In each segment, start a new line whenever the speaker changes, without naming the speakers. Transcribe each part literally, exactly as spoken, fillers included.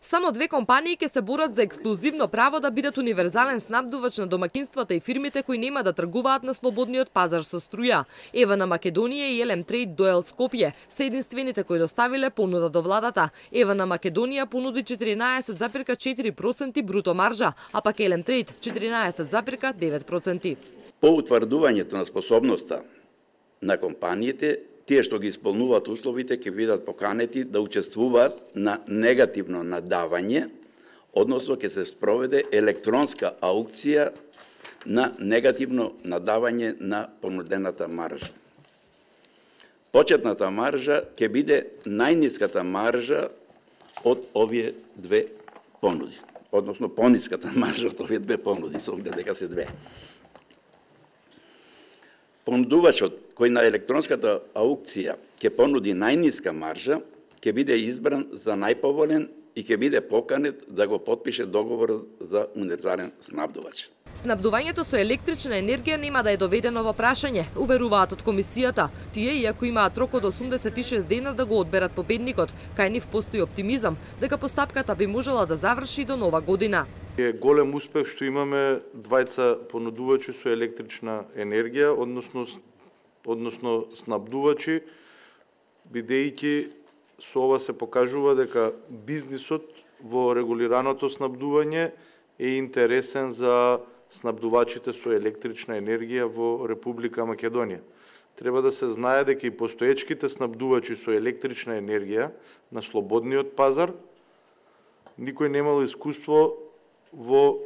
Само две компании ќе се борат за ексклузивно право да бидат универзален снабдувач на домакинствата и фирмите кои нема да тргуваат на слободниот пазар со струја. Ева на Македонија и Елем Трейд Доел Скопје се единствените кои доставиле понуда до владата. Ева на Македонија понуди четиринаесет запирка четири проценти бруто маржа, а пак Елем Трейд четиринаесет запирка девет проценти.
По утврдувањето на способноста на компаниите, тие што ги исполнуваат условите ќе бидат поканети да учествуваат на негативно надавање, односно ќе се спроведе електронска аукција на негативно надавање на понудената маржа. Почетната маржа ќе биде најниската маржа од овие две понуди, односно пониската маржа од овие две понуди, со оглед дека се две. Понудувачот кој на електронската аукција ќе понуди најниска маржа, ќе биде избран за најповолен и ќе биде поканет да го потпише договор за универзален снабдувач.
Снабдувањето со електрична енергија нема да е доведено во прашање, уверуваат од комисијата. Тие, иако имаат рок од осумдесет и шест дена да го одберат победникот, кај нив постои оптимизам дека постапката би можела да заврши до нова година.
Е голем успех што имаме двајца понудувачи со електрична енергија, односно односно снабдувачи, бидејќи со ова се покажува дека бизнисот во регулираното снабдување е интересен за снабдувачите со електрична енергија во Република Македонија. Треба да се знае дека и постоечките снабдувачи со електрична енергија на слободниот пазар никој немало искуство во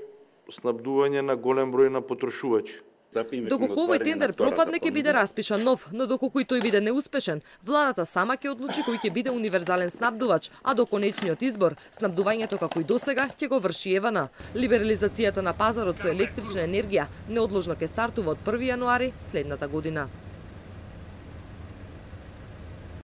снабдување на голем број на потрошувачи.
Доколку овој тендер пропадне, ќе биде распишан нов, но доколку и тој биде неуспешен, владата сама ќе одлучи кој ќе биде универзален снабдувач, а до конечниот избор, снабдувањето како и досега ќе го врши Евана. Либерализацијата на пазарот со електрична енергија неодложно ќе стартува од први јануари следната година.